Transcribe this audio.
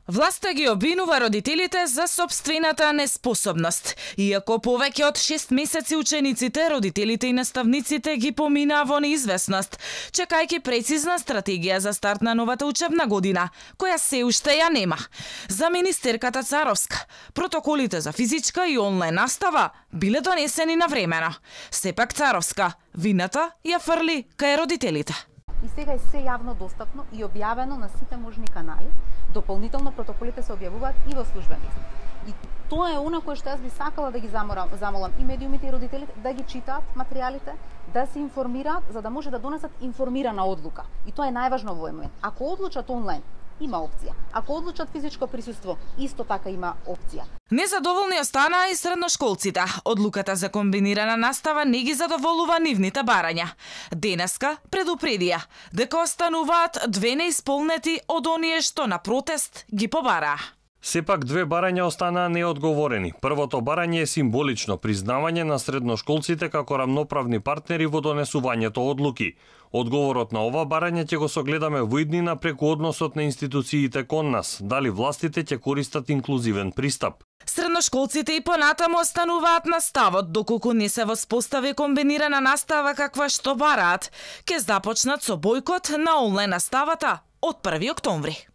Власта ги обвинува родителите за сопствената неспособност. Иако повеќе од 6 месеци учениците, родителите и наставниците ги поминаа во неизвестност, чекајќи прецизна стратегија за старт на новата учебна година, која се уште ја нема. За министерката Царовска, протоколите за физичка и онлайн настава биле донесени навремено. Сепак Царовска вината ја фрли кај родителите. И сега е се јавно достапно и објавено на сите можни канали. Дополнително протоколите се објавуваат и во службен лист. И тоа е она кое што јас би сакала да ги замолам и медиумите и родителите да ги читаат материјалите, да се информираат за да може да донесат информирана одлука. И тоа е најважно во овој момент. Ако одлучат онлайн, има опција. Ако одлучат физичко присуство, исто така има опција. Незадоволни останаа и средношколците. Одлуката за комбинирана настава не ги задоволува нивните барања. Денеска предупредија дека остануваат 2 неисполнети од оние што на протест ги побараа. Сепак 2 барања останаа неодговорени. Првото барање е символично признавање на средношколците како рамноправни партнери во донесувањето одлуки. Одговорот на ова барање ќе го согледаме во иднина преку односот на институциите кон нас, дали властите ќе користат инклузивен пристап. Средношколците и понатаму остануваат на ставот доколку не се воспостави комбинирана настава каква што бараат. Ке започнат со бојкот на онлайн наставата од 1 октомври.